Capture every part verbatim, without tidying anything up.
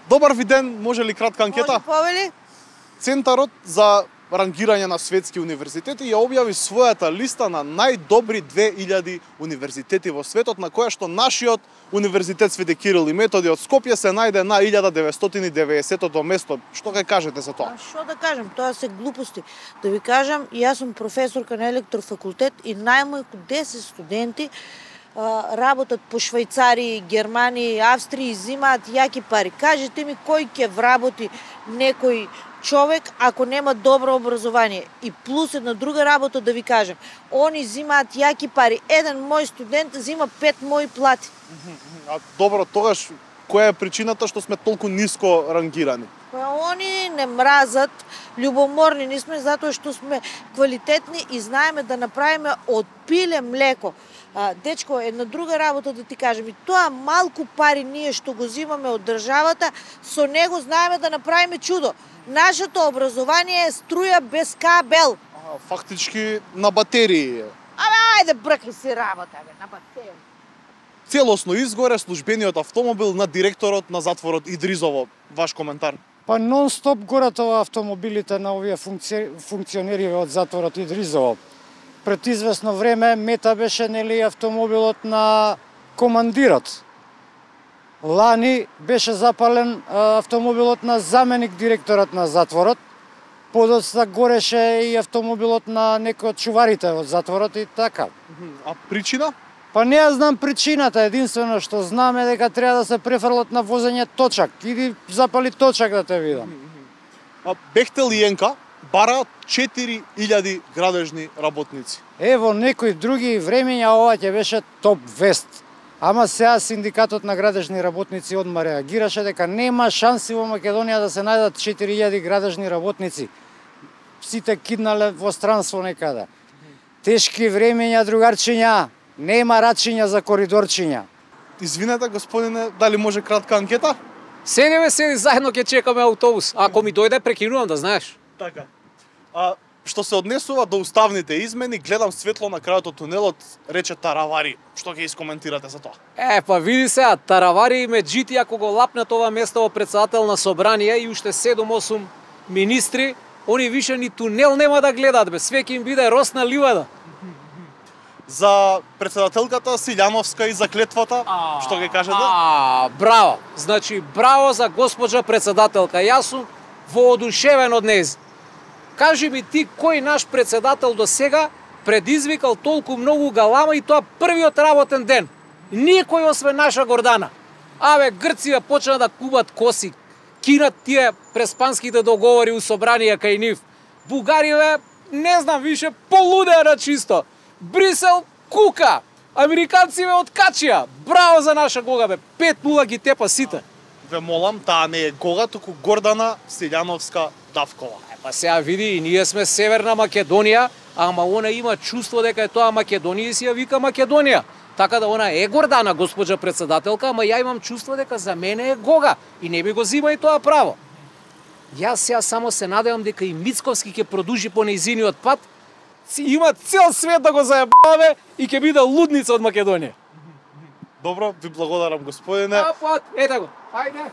Добар ви ден, може ли кратка анкета? Може повели? Центарот за рангирање на светски универзитети ја објави својата листа на најдобри две илјади универзитети во светот, на која што нашиот универзитет Свети Кирил и Методи од Скопје се најде на илјада деветстотини и деветдесетото место. Што ќе кажете за тоа? А што да кажем, тоа се глупости. Да ви кажам, јас сум професорка на електрофакултет и најмалку десет студенти а, работат по Швајцарија, Германија, Австрија и зимаат јаки пари. Кажете ми кој ќе вработи некој човек ако нема добро образование. И плюс една друга работа да ви кажем. Они зимаат јаки пари. Еден мој студент зима пет мои плати. А добро, тогаш која е причината што сме толку ниско рангирани? Па они не мразат, љубоморни не сме затоа што сме квалитетни и знаеме да направиме од пиле млеко. А, дечко, една друга работа да ти кажем, и тоа малку пари ние што го зимаме од државата, со него знаеме да направиме чудо. Нашето образование е струја без кабел. А, фактички на батерии. Абе, ајде бркни си работа, бе, на батерии. Целосно изгоре службениот автомобил на директорот на затворот Идризово. Ваш коментар? Па нон-стоп горат ова автомобилите на овие функци... функционери од затворот Идризово. Пред известно време мета беше нели автомобилот на командирот. Лани беше запален автомобилот на заменик директорот на затворот. Подоцна гореше и автомобилот на некој од чуварите од затворот и така. А причина? Па не ја знам причината, единствено што знам е дека треба да се префрлат на возење точак. Иди запали точак да те видам. А Бехтел и Енка бара четири илјади градежни работници. Ево некои други времења ова ќе беше топ вест. Ама сега синдикатот на градежни работници одма реагираше дека нема шанси во Македонија да се најдат четири илјади градежни работници. Сите киднале во странство некаде. Тешки времења, другарчиња. Нема рачиња за коридорчиња. Извинете, господине, дали може кратка анкета? Седи бе, седи, заедно ќе чекаме автобус. Ако ми дојде, прекинувам, да знаеш. Така. А што се однесува до уставните измени, гледам светло на крајот од тунелот, рече Таравари. Што ќе искоментирате за тоа? Е, па види се, Таравари и Меджити, ако го лапнат ова место во председател на собрание и уште седум-осум министри, они више ни тунел нема да гледат, бе, све ќе им биде росна ливада. За председателката Силјановска и за клетвата, а, што ќе кажете? А, браво. Значи, браво за госпоđа председателка. Јас сум воодушевен од нејз. Кажи ми ти, кој наш председател до сега предизвикал толку многу галама и тоа првиот работен ден? Никој освен наша Гордана. Абе, Грција почна да кубат коси, кинат тие преспанските договори у собрание кај нив. Бугариве, не знам више, полудеа на чисто. Брисел кука, американци ме откачија. Браво за наша Гога, бе. пет нула ги тепа сите. Ве молам, таа не е Гога, туку Гордана Силјановска Давкова. Е, па сега види, и ние сме Северна Македонија, ама она има чувство дека е тоа Македонија и си ја вика Македонија. Така да она е Гордана, госпоđа председателка, ама ја имам чувство дека за мене е Гога и не би го зима и тоа право. Јас сега само се надевам дека и Мицковски ќе продужи по нејзиниот пат, има цел свет да го заебаваме и ќе биде лудница од Македонија. Добро, ви благодарам, господине. А, пат, ете го, ајде.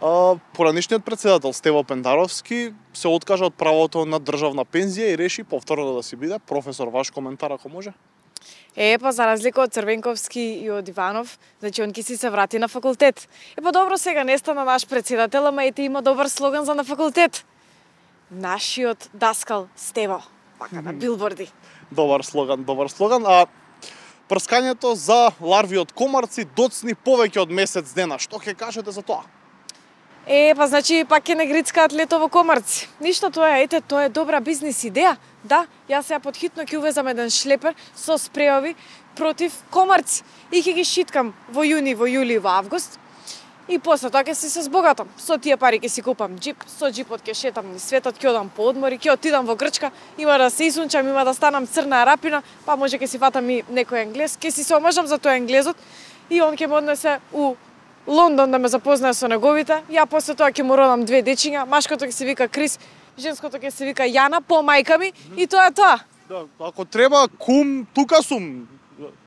А, поранишниот председател Стево Пендаровски се откажа од правото на државна пензија и реши повторно да си биде професор. Ваш коментар ако може? Е, па за разлика од Црвенковски и од Иванов, значи он ки си се врати на факултет. Е, па добро, сега не стана наш председател, ама ете има добар слоган за на факултет. Нашиот даскал Стево, пака на билборди. Добар слоган, добар слоган. А прскањето за ларви од комарци доцни повеќе од месец дена. Што ќе кажете за тоа? Е, па значи пак ќе не грицкаат летово комарци. Ништо тоа, ете, тоа е добра бизнис идеја. Да, јас сега подхитно ќе увезам еден шлепер со спреови против комарци и ќе ги шиткам во јуни, во јули и во август. И после тоа ќе си се збогатам. Со тие пари ќе си купам џип, со џипот ќе шетам низ светот, ќе одам по одмори, ќе отидам во Грчка, има да се исунчам, има да станам црна арапина, па може ќе си фатам и некој енглез, ќе си се омажам за тој енглезот и он ќе ме однесе у Лондон да ме запознае со неговите. Ја после тоа ќе му родам две дечиња, машкото ќе се вика Крис, женското ќе се вика Јана по мајка ми и тоа е тоа. Да, ако треба кум, тука сум.